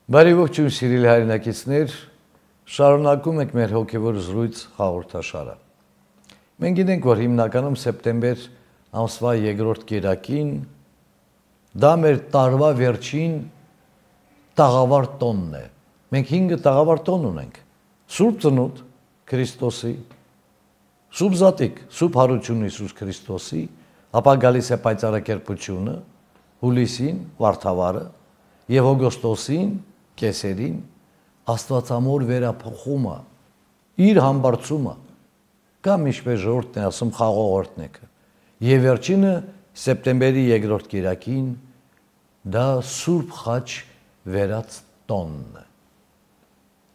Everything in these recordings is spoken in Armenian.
Բարի ողջույն սիրելի հայրենակիցներ, շարունակում ենք մեր հոգևոր զրույց հաղորդաշարը։ Մենք գիտենք, որ հիմնականում սեպտեմբեր ամսվա երկրորդ կիրակին դա մեր տարվա վերջին տաղավար տոնն է։ Մենք 5 տաղավար տոն ունենք. Սուրբ Ծնունդ Քրիստոսի, Սուրբ Զատիկ, Սուրբ Հարություն Հիսուս Քրիստոսի, ապա գալիս է պայծառակերպությունը, հուլիսին, Վարդավառը եւ օգոստոսին, կեսերին, Աստվածամոր վերափոխումը, իր համբարձումը, կամ ինչպես ժողովուրդն է ասում, խաղողորտնեկը։ Եվ վերջինը սեպտեմբերի երկրորդ կիրակին դա Սուրբ Խաչ վերած տոնն է։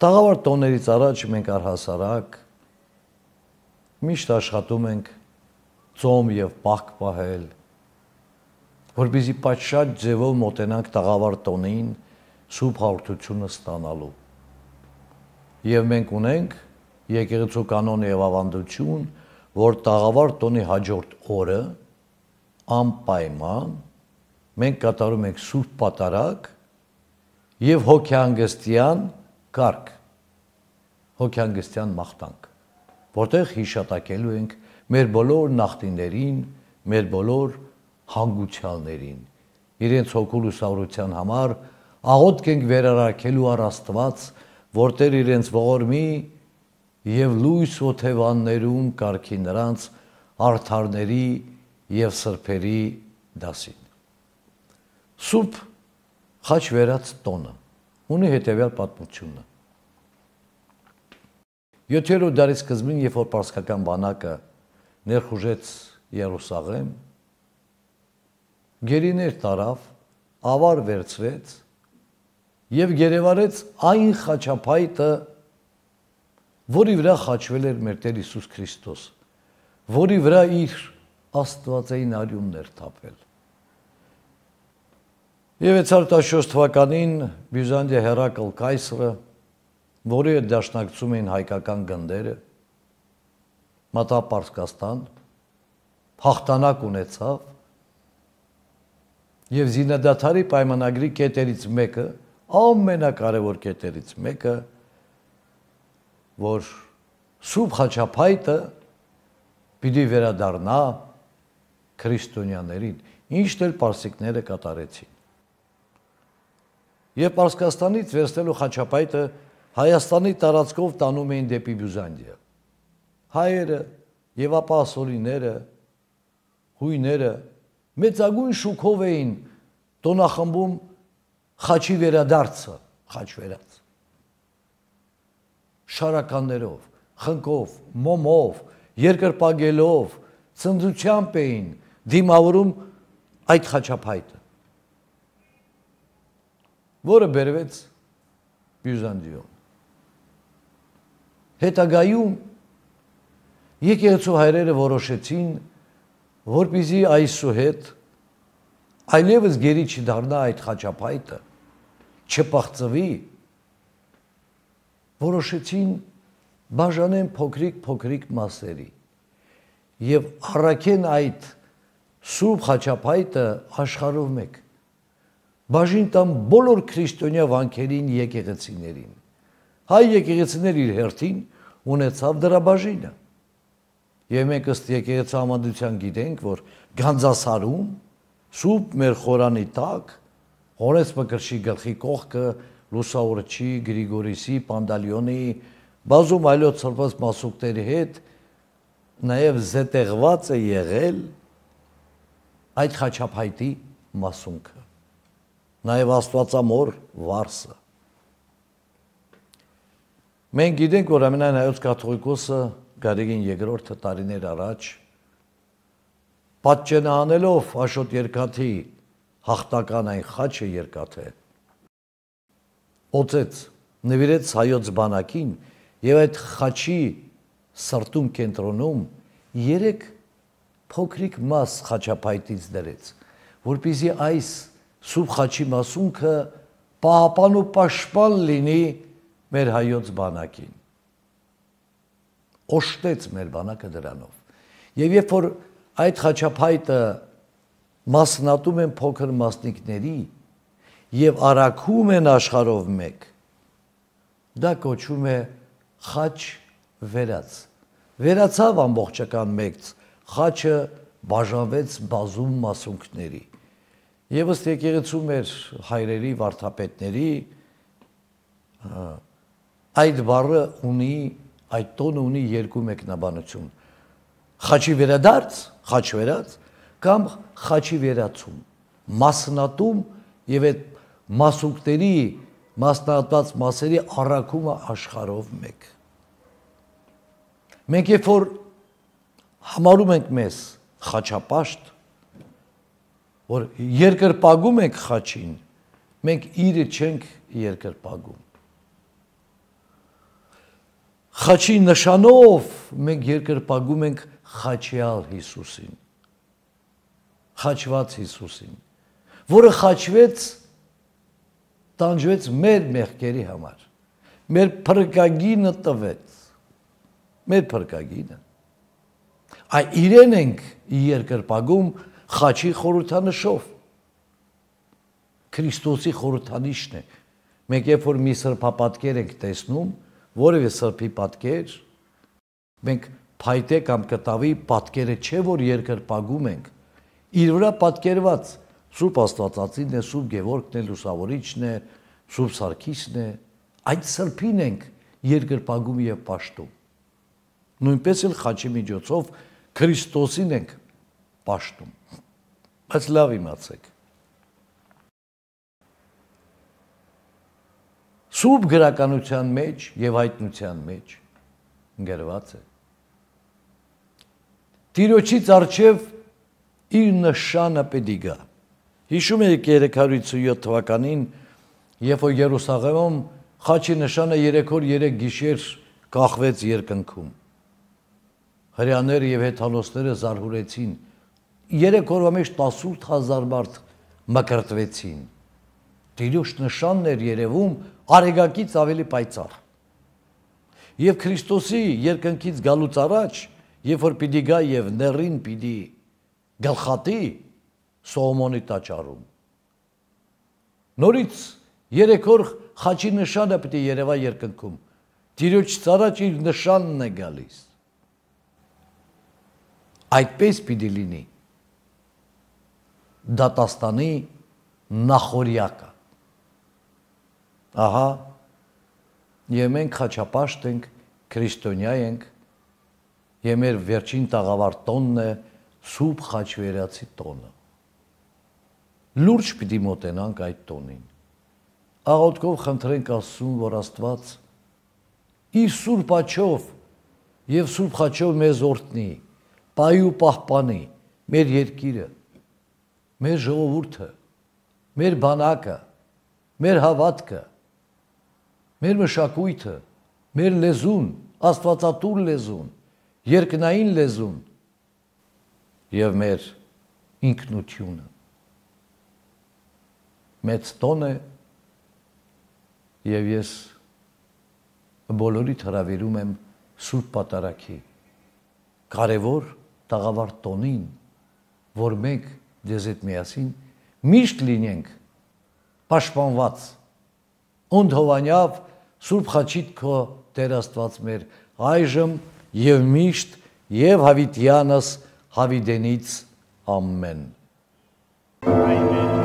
Տաղավար տոներից առաջ մենք առհասարակ միշտ աշխատում ենք ծոմ եւ պահք պահել, որպեսզի պատշաճ ձևով մոտենանք տաղավար տոնին Սուրբ Հաղորդությունը ստանալու։ Եվ մենք ունենք եկեղեցու կանոն եւ ավանդություն, որ տաղավար տոնի հաջորդ օրը անպայման մենք կատարում ենք Սուրբ Պատարագ եւ հոգեհանգստյան կարգ, հոգեհանգստյան մաղթանք, որտեղ հիշատակելու ենք մեր բոլոր նախնիներին, մեր բոլոր հանգուցյալներին, իրենց հոգու լուսավորության համար աղոթք ենք վերարարքելու առ Աստված, որտեղ իրենց ողորմի եւ լույս օթևաններում կարգի նրանց արդարների եւ սրբերի դասին։ Սուրբ Խաչ վերած տոնը ունի հետևյալ պատմությունը։ 7-րդ դարի սկզբին, երբ որ պարսկական բանակը ներխուժեց Երուսաղեմ, գերիներ տարավ, ավար վերցրեց եւ գերեվարեց այն խաչապայտը, որի վրա խաչվել էր մեր Տեր Հիսուս Քրիստոս, որի վրա իր աստվածային արյունն էր թափել։ Եվ 614 թվականին Բյուզանդիա Հերակլ կայսրը, որի հետ դաշնակցում էին հայկական գնդերը, մտավ Պարսկաստան, հաղթանակ ունեցավ եւ Զինադադարի պայմանագրի կետերից մեկը, ամենակարևոր կետերից մեկը, որ Սուրբ Խաչապայտը պիտի վերադառնա քրիստոնյաներին, ինչն էլ պարսիկները կատարեցին։ Եվ Պարսկաստանից վերցնելու խաչապայտը Հայաստանի տարածքով տանում էին դեպի Բյուզանդիա։ Հայերը եւ ապա ասորիները, հույները մեծագույն շուքով էին տոնախմբում խաչի վերադարձը, խաչ վերած։ Շարականներով, խնկով, մոմով, երկրպագելով, ցնծությամբ էին դիմավորում այդ խաչապայտը, որը բերվեց Բյուզանդիոն։ Հետագայում եկեղեցու հայրերը որոշեցին, որպեսզի այսուհետ այլևս գերի չդառնա այդ խաչապայտը, չփախծվի, որոշեցին բաժանեն փոքրիկ մասերի եւ առաքեն այդ Սուրբ Խաչապայտը աշխարհով մեկ, բաժին տան բոլոր քրիստոնյա վանքերին եկեղեցիներին։ Հայ եկեղեցիներ իր հերթին ունեցավ դրա բաժինը։ Եվ մենք ըստ եկեղեցու համանդության գիտենք, որ Գանձասարում Սուրբ մեր խորանի տակ Հորես Մկրտչի գլխի կողքը Լուսավորչի, Գրիգորիսի, Պանդալյոնի, բազում այլոց սրբոց մասուկտերի հետ նաև զետեղված է եղել այդ խաչապայտի մասունքը, նաև Աստվածամոր վարսը։ Մենք գիտենք, որ ամենայն հայոց կաթողիկոսը Գարեգին II տարիներ առաջ պատճենահանելով Աշոտ Երկաթի հաղթական այն խաչը երկաթե, օծեց, նվիրեց հայոց բանակին եւ այդ խաչի սրտում կենտրոնում 3 փոքրիկ մաս խաչապայտից դրեց, որպեսզի այս Սուրբ Խաչի մասունքը պահապան ու պաշտպան լինի մեր հայոց բանակին։ Օժտեց մեր բանակը դրանով։ Եվ երբ որ այդ խաչապայտը մասնատում են փոքր մասնիկների եւ արաքում են աշխարհով մեկ, դա կոչվում է խաչ վերած։ Վերացավ ամբողջական մեկ, խաչը բաժանվեց բազում մասունքների։ Եվ ըստ եկեղեցու մեր հայրերի, վարդապետների, այդ բառը ունի, այդ տոնը ունի երկու մեկնաբանություն։ Խաչի վերադարձ, խաչ վերած, կամ խաչի վերացում, մասնատում եւ այդ մասունքների, մասնատված մասերի առաքումը աշխարհով մեկ։ Մենք երբ որ համարում ենք մեզ խաչապաշտ, որ երկրպագում ենք խաչին, մենք իրը չենք երկրպագում։ Խաչի նշանով մենք երկրպագում ենք խաչյալ Հիսուսին, խաչված Հիսուսին, որը խաչվեց, տանջվեց մեր մեղքերի համար, մեր փրկագինը տվեց, մեր փրկագինը։ Այ իրեն ենք երկրպագում խաչի խորհրդանշով, Քրիստոսի խորհրդանիշն է։ Մենք երբ որ մի սրբապատկեր ենք տեսնում, որևէ սրբի պատկեր, մենք փայտե կամ կտավի պատկերը չէ, որ երկրպագում ենք, իր վրա պատկերված Սուրբ Աստվածածինն է, Սուրբ Գևորգն է, Լուսավորիչն է, Սուրբ Սարգիսն է, այդ սրբին ենք երկրպագում եւ պաշտում։ Նույնպես էլ խաչի միջոցով Քրիստոսին ենք պաշտում։ Բայց լավ իմացեք։ Սուրբ գրականության մեջ եւ հայտնության մեջ գրված է։ Տիրոջից առջև իր նշանը պետք է գա։ Հիշում եք 307 թվականին, երբ որ Երուսաղեմում խաչի նշանը 3 օր 3 գիշեր կախվեց երկնքում։ Հրեաները եւ հեթանոսները զարհուրեցին։ 3 օրվա մեջ 18000 մարդ մկրտվեցին։ Տիրոջ նշանն էր երևում արեգակից ավելի պայծառ։ Եվ Քրիստոսի երկնքից գալուց առաջ, երբ որ պիտի գա եւ ներին պիտի գլխատի Սողոմոնի տաճարում, նորից 3 օր խաչի նշանը պիտի երևա երկնքում։ Տիրոջից առաջ իր նշանն է գալիս։ Այդպես պիտի լինի դատաստանի նախորյակը։ Ահա, եւ մենք խաչապաշտ ենք, քրիստոնյա ենք, եւ մեր վերջին տաղավար տոնն է Սուրբ Խաչվերացի տոնը։ Լուրջ պիտի մոտենանք այդ տոնին։ Աղոթքով խնդրենք Աստծուն, որ Աստված իր Սուրբ աջով եւ Սուրբ Խաչով մեզ օրհնի, պահի ու պահպանի մեր երկիրը, մեր ժողովուրդը, մեր բանակը, մեր հավատքը, մեր մշակույթը, մեր լեզուն, աստվածատուր լեզուն, երկնային լեզուն եւ մեր ինքնությունը։ Մեծ տոն է եւ ես բոլորիդ հրավիրում եմ Սուրբ Պատարագի կարևոր տաղավար տոնին, որ մենք ձեզ հետ միասին միշտ լինենք պաշտպանված, ընդհովանյավ Սուրբ Խաչիդ քո Տեր Աստված մեր այժմ եւ միշտ եւ հավիտյանս հավիտենից ամեն։ Ամեն։